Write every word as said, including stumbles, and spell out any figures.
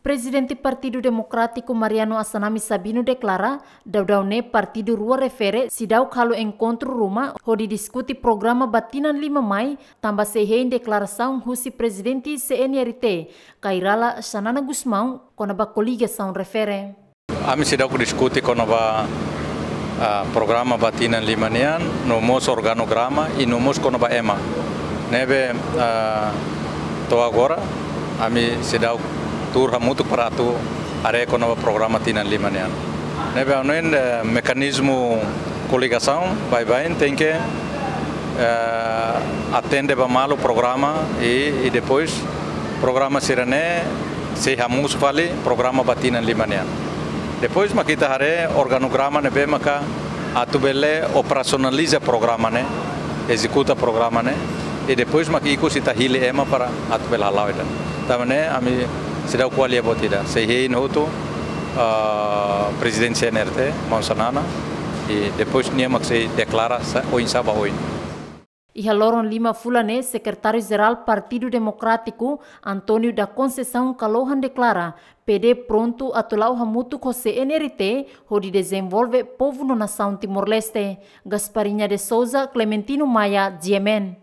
Prezidente Partidu Demokrátiku Mariano Assanami Sabino deklara, daudaun ne'e partidu rua refere seidauk halo enkontru ruma hodi diskute programa ba tinan lima mai, tanba sei hein deklarasaun husi Prezidente C N R T, Kay Rala Xanana Gusmão, kona-ba koligasaun refere. Ami seidauk diskute kona-ba, ah, programa ba tinan lima nian, no mós organograma, i no mós kona-ba ema. Ne'ebé, ah, to'o agora, ami seidauk tuur hamutuk para atu haree kona-ba programa tinan lima nian. Ne'ebé ha'u hanoin, eh, mekanizmu koligasaun baibain tenke, eh, atende ba malu programa i, i depois programa sira-ne'e sei hamosu fali programa ba tinan lima nian. Depois mak ita haree organograma ne'ebé maka atu bele operasionaliza programa ne'e, ezekuta programa ne'e, i depois mak ikus ita hili ema para atu bele hala'o ida. Tanba ne'e ami seidauk ko'alia buat ida. Sei hein hotu, ah, Prezidente C N R T, maun Xanana, i depois nia mak sei deklara sa, oinsá ba oin. Iha loron lima fulan ne'e, Sekretáriu Jerál Partidu Demokrátiku, António da Conceição Kalohan deklara, P D prontu atu la'o hamutuk ho C N R T hodi dezenvolve povu no nasaun Timor-Leste. Gasparinha de Souza, Clementino Maia, G M N.